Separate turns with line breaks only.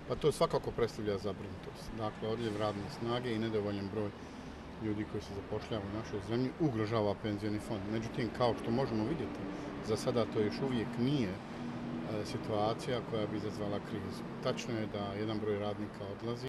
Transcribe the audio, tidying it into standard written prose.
Pa to svakako predstavlja zabrinutost. Dakle, odljev radne snage i nedovoljan broj ljudi koji se zapošljavaju u našoj zemlji ugrožava penzioni fond. Međutim, kao što možemo vidjeti, za sada to još uvijek nije situacija koja bi izazvala krizu. Tačno je da jedan broj radnika odlazi.